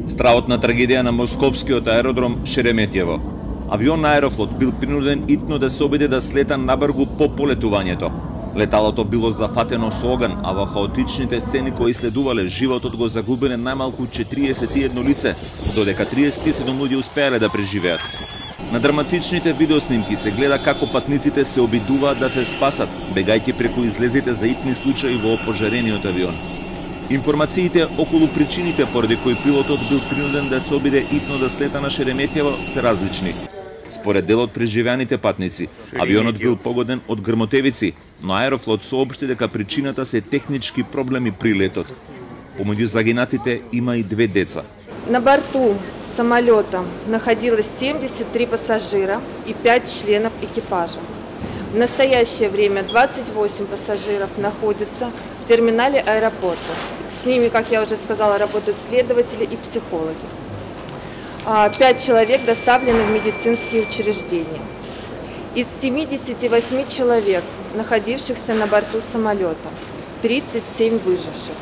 Страхотна трагедија на московскиот аеродром Шереметјево. Авион на Аерофлот бил принуден итно да се обиде да слета набргу по полетувањето. Леталото било зафатено со оган, а во хаотичните сцени кои следувале, животот го загубиле најмалку 41 лице, додека 37 луѓе успеале да преживеат. На драматичните видеоснимки се гледа како патниците се обидуваат да се спасат, бегајќи преку излезите за итни случаи во опожарениот авион. Информациите околу причините поради кои пилотот бил принуден да се обиде итно да слета на Шереметјево се различни. Според дел од преживеаните патници, авионот бил погоден од грмотевици, но Аерофлот соопшти дека причината се технички проблеми при летот. Помеѓу загинатите има и 2 деца. На борту самолета находилось 73 пассажира и 5 членов экипажа. В настоящее время 28 пассажиров находятся в терминале аэропорта. С ними, как я уже сказала, работают следователи и психологи. 5 человек доставлены в медицинские учреждения. Из 78 человек, находившихся на борту самолета, 37 выживших.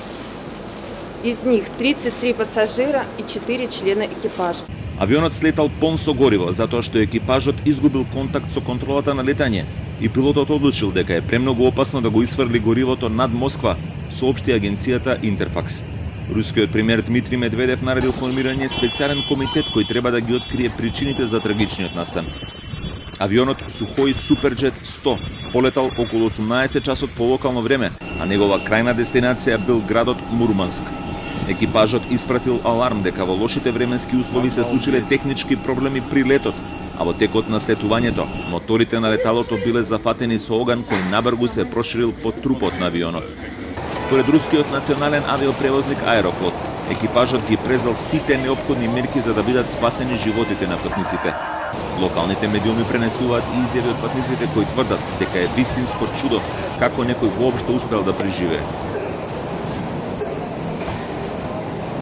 Из них 33 пассажира и 4 члена экипажа. Авионот слетал полн со гориво, затоа што екипажот изгубил контакт со контролата на летање и пилотот одлучил дека е премногу опасно да го исфрли горивото над Москва, соопшти агенцијата Интерфакс. Рускиот премиер Дмитрий Медведев наредил формирање специјален комитет кој треба да ги открие причините за трагичниот настан. Авионот Сухој Суперджет 100 полетал околу 18 часот по локално време, а негова крајна дестинација бил градот Мурманск. Екипажот испратил аларм дека во лошите временски услови се случиле технички проблеми при летот, а во текот на слетувањето моторите на леталото биле зафатени со оган кој набргу се проширил по трупот на авионот. Според рускиот национален авиопревозник Аерофлот, екипажот ги презел сите неопходни мерки за да бидат спасени животите на патниците. Локалните медиуми пренесуваат и изјави од патниците кои тврдат дека е вистинско чудо како некој воопшто успел да преживее.